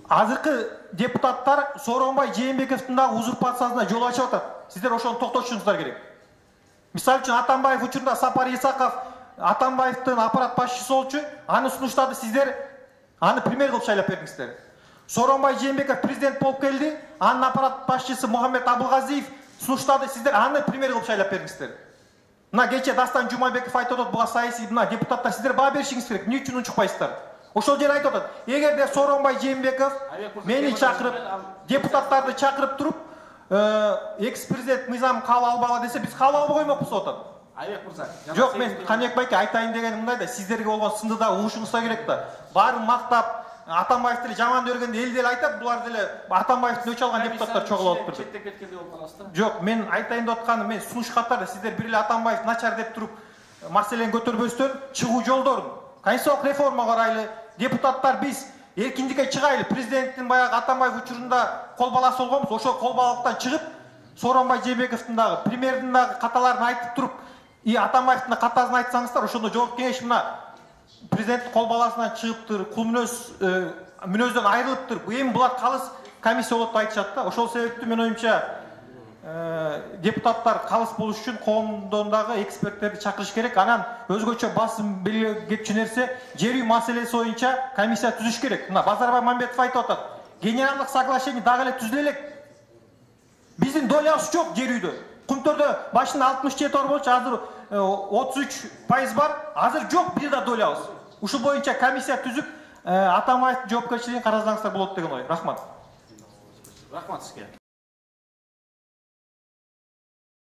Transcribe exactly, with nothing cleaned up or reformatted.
азыркы депутаттар Сооронбай Жээнбековдун дагы узурпациясына жол ачып атат. Сиздер ошону токтотушуңуздар керек. Мисалы үчүн Атамбаев учурунда Сапар Исаков Атамбаевдин аппарат башчысы болчу, аны сунуштады, сиздер аны премьер кылып шайлап бердиңиздер. Сооронбай Жээнбеков президент болуп келди, анын аппарат башчысы Мухаммед Абылгазиев сунуштады, сиздер аны премьер кылып шайлап бердиңиздер. Мына кече Дастан Жумабеков айтып атат, буга саясий мына депутаттар сиздер баа беришиңиз керек. Эмне үчүн унчукпайсыздар? Ошол жер айтып атат. Эгерде Сооронбай Жээнбеков мени чакырып, депутаттарды чакырып туруп, экс-президент мыйзам кабыл албагыла десе, биз кабыл албай коймокпуз деп атат. Айбек мырза. Жок, мен Каныбек байке айтайын дегеним мындай да, сиздерге болгон сынды да угушуңузга керек да. Баарын мактап, Атамбаев деле жаман көргөндө эл деле айтат, булар деле Атамбаевдин өч алган депутаттар чогулуп отурду. Четтеп кеткендей болуп каласыздар. Жок, мен айтайын деп атканым, мен сунуш катарда сиздер бир эле Атамбаев начар деп туруп маселени көтөрбөстөн чыгуу жолдорун конституциялык реформа карайлы, депутаттар биз эркиндикке чыгайлы. Президенттин баягы Атамбаев учурунда кол баласы болгонбуз, ошол кол балалыктан чыгып, Сооронбай Жээнбековдун дагы, премьердин дагы каталарын айтып туруп, и Атамбаевдин катасын айтсаңыздар, ошондо жогорку кеңеш мына президенттин кол баласынан чыгыптыр, кул мүнөз мүнөздөн айрылыптыр. Эми булар калыс комиссия болот деп айтышат да. Ошол себептүү мен оюмча депутаттар калыс болуш үчүн коомдон дагы эксперттерди чакырыш керек. Анан өзгөчө басым белгилеп кетчү нерсе, жер үй маселеси боюнча комиссия түзүш керек. Мына Базарбай Мамбетов айтып атат, генералдык соглашение дагы эле түзүлө элек. Биздин долябыз жок жер үйдө. Кумтөрдө башында алтымыш жети ор болчу, азыр отуз үч пайыз бар. Азыр жок бир да долябыз. Ушул боюнча комиссия түзүп, Атамбаевдин жоопкерчилигин карасаңыздар болот деген ой. Рахмат. Рахмат сизге.